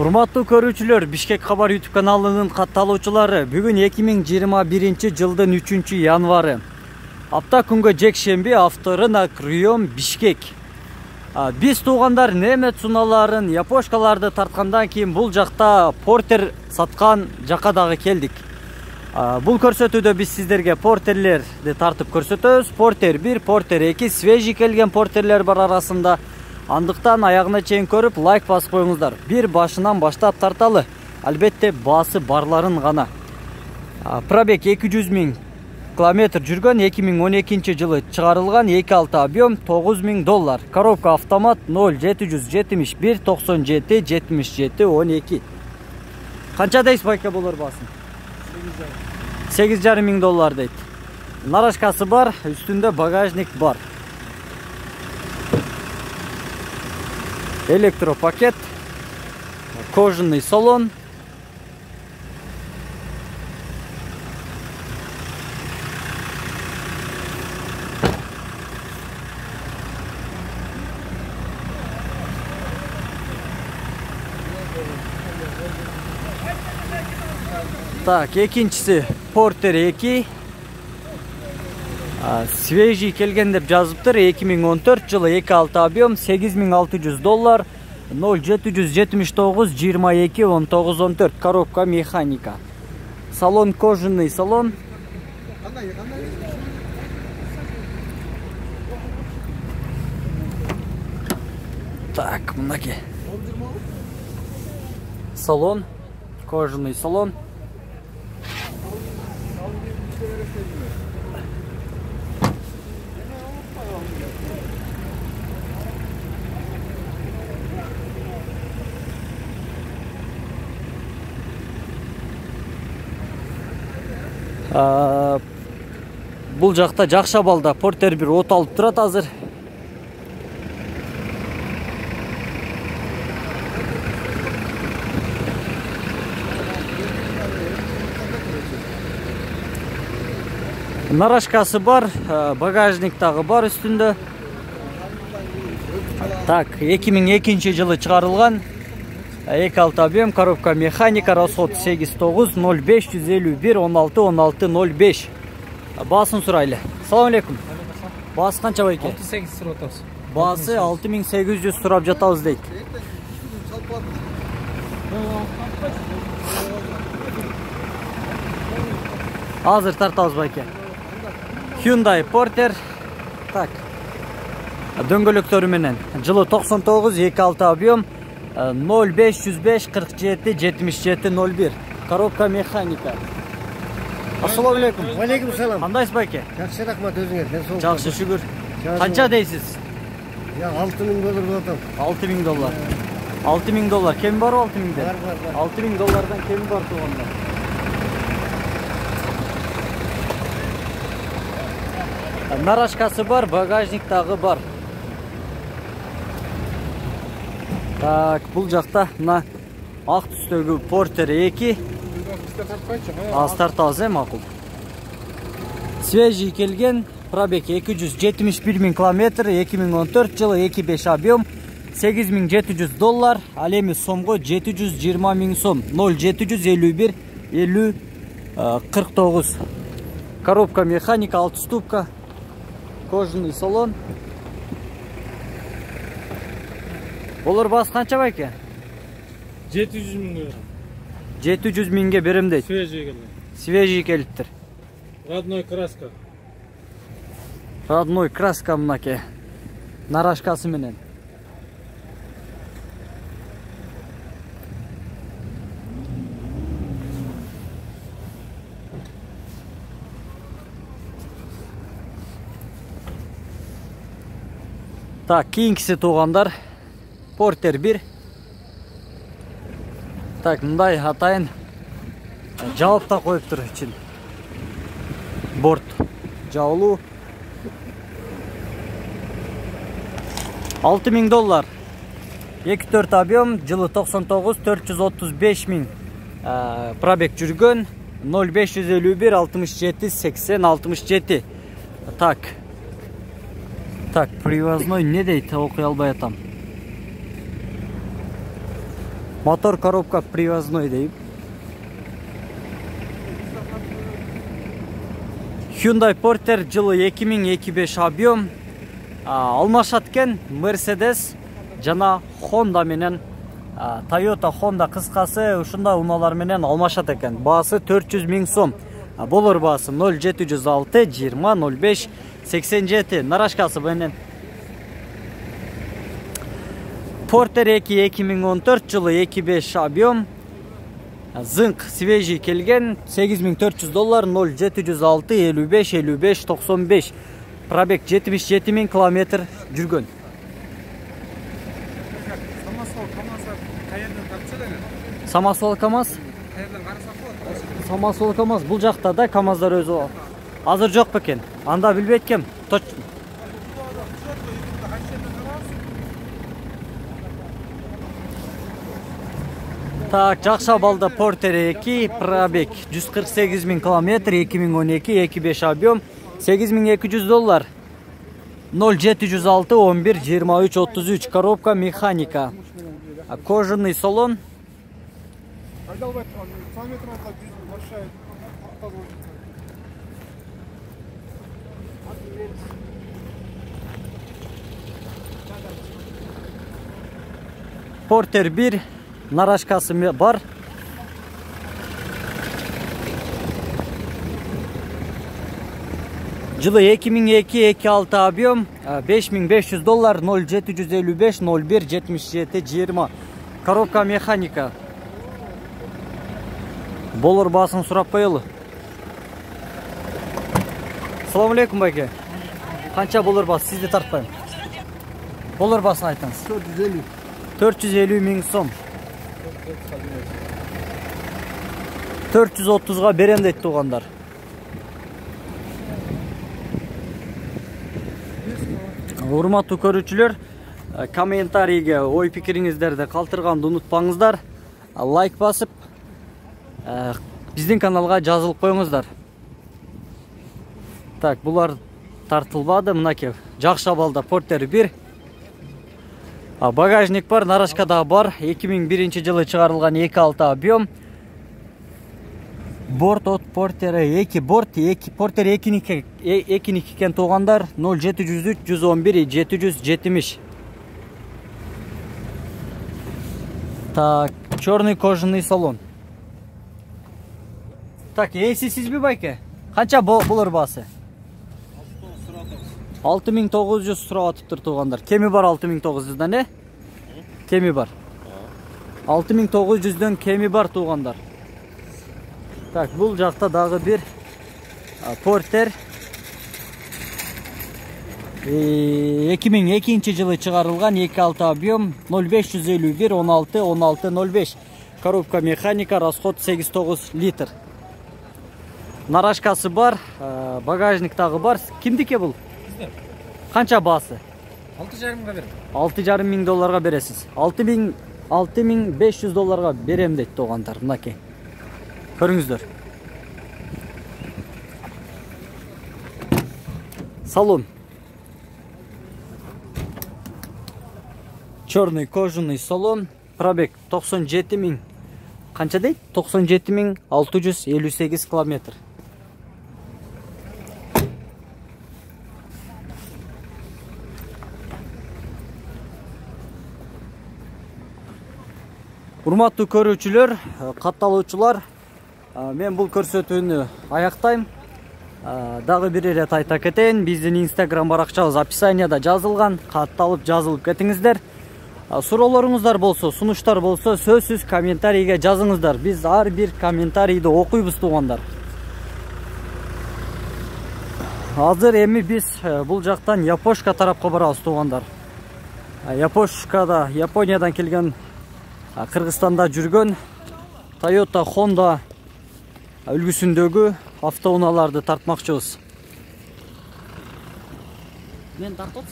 Урматтуу көрүүчүлөр, Бишкек кабар YouTube каналынын катталуучулары, бүгүн 2021 жылдын 3-январы. Апта күнгө жекшемби, авторынок район Бишкек. Биз туугандар немет суналарын, япошкаларды тарткандан кийин бул жакта портер саткан жакка дагы келдик. Бул көрсөтүүдө биз сиздерге портерлерди тартып көрсөтөбүз. Портер 1, портер 2, свежий келген портерлер бар арасында. Андыктан аягына чейин көрүп, лайк басып коюңуздар. Бир башынан баштап тарталы. Албетте баасы барларын гана. Пробег 200 000 километр жүргөн, 2012 жылы чыгарылган, 2.6 объем, $9000. Коробка автомат 0771 97 77 12. Канча дейсиз байка болор баасын? $8.500 дейт. Нарашкасы бар, үстүндө багажник бар. Электропакет, кожаный салон. Так, экинчиси портер 2. Свежий келген деп жазыптыр. 2014 жылы 2.6 объем, $8600, 0779 22 19 14. Коробка механика. Салон кожаный салон. Так, мынаки. Салон, кожаный салон. Бул жакта жакшы абалда портер 1 от алып турат азыр. Нарашкасы бар, багажник дагы бар үстүндө. Так, 2002 жылы чыгарылган. 2.6 объем, коробка механика, расход 8.9 0551 16 16 05. Баасын сурайлы. Салам алейкум. Баасы канча байке? 68 сурап атабыз. Баасы 6800 сурап жатабыз дейт. Азыр тартабыз байке. Hyundai Porter. Так. Дөңгөлөктөрү менен. Жылы 99, 2.6 объем. 0505 47 77 01. Коробка механика. Ассаламу алейкум. Алейкум салам. Кандайсыз байке? Жакшы, рахмат, өзүңөр. Жакшы, шүгүр. Канча дейсиз? $6000 $6000. $6000. Кем бар $6000? Бар. $6000 кем бар туугандар? Нарашкасы бар, багажник дагы бар. Так, бул жакта мына ак түстөгү портер 2. Аз тартабыз, макул. Свежий келген, пробег 271 000 километр, 2014 жылы 2.5 объем, $8700, ал эми сомго 720 000 сом, 0751 50 49. Коробка механика, 6 ступка, кожаный салон. Болор баасы канча байке? 700 000. 700 000 берем дейт. Свежий келген. Свежий келиптир. Родной краска. Родной краска мынаке. Нарашкасы менен. Так, кийинкиси туугандар. Портер 1. Так, мындай атайын жаап да коюптур ичин. Борт жаулуу. $6000. 2.4 объем, жылы 99, 435 000 пробег жүргөн, 0551 67 80 67. Так, привозной не дейт, окуй албай атам. Мотор коробка привозной дейм. Hyundai Porter жылы 2025 объем. Алмашат экен Mercedes жана Honda менен Toyota Honda кыскасы ушундай унаалар менен алмашат экен. Баасы 400 000 сом. Болор баасы 0706 20 05 87. Нарашкасы менен Porter 2 2014 жылы 25 объем. Зынк свежий келген $8400 0706 55 55 95. Пробег 77 000 километр жүргөн. Самосвал КамАЗ? Самосвал КамАЗ бул жакта да, КамАЗдар өзү азыр жок бекен. Анда билбейт кем. Так, Жакшабалда Porter 2, пробег 148 000 километр, 2012, 25 объем, $8200. 0706 11 23 33, коробка механика. Кожаный салон. Porter 1, нарашкасы бар. Жылы 2002-26 объем, $5500, 0755 01 77 20. Коробка механика. Болор баасын сурап коелу. Салам алейкум байке. Канча болор баасы, сизди тартпайм. Болор баасын айтыңыз. 450. 450 000 сом. 430-га берем дейт туугандар. Урматтуу көрүүчүлөр, комментарийге ой пикириңиздерди калтырганды унутпаңыздар. Лайк басып, биздин каналга жазылып коюңуздар. Так, булар тартылбады. Мынакей Жакшабалда Porter 1. Багажник бар, нарашкада бар. 2001 жылы чыгарылган 2.6 объем. Борт от Porter 2, борт 2, Porter 2 кен туугандар. 0703 111 770. Так, черный кожаный салон. Так, эси сизби байке? Канча болор баасы? 6900 сурап атыптыр туугандар. Кеми бар 6900-дан, э? Кеми бар. 6900-дөн кеми бар туугандар. Так, бул жакта дагы бир Porter 2002 жылы чыгарылган 2.6 объем, 0551 16 16 05. Коробка механика, расход 8-9 литр. Нарашкасы бар, багажник дагы бар. Кимдики бул? Канча баасы? 6,5 миңга берем. $6,500 бересиз. $6500 берем дейт туугандар. Мынакей. Көрүңүздөр. Салон. Черный кожаный салон. Пробег 97 000. Канча дейт? 97 658 километр. Урматтуу көрүүчүлөр, катталуучулар, мен бул көрсөтүүнү аяктайм. Дагы бир ирет айта кетейин, биздин Instagram баракчабыз описанияда жазылган, катталып жазылып кетиңиздер. Суроолоруңуздар болсо, сунуштар болсо, сөзсүз комментарийге жазыңыздар. Биз ар бир комментарийди окуйбуз туугандар. Азыр эми биз бул жактан Япошка тарапка барабыз туугандар. Япошкада Япониядан келген, Кыргызстанда жүргөн Toyota Honda үлгүсүндөгү автоунааларды тартмакчыбыз. Мен тартып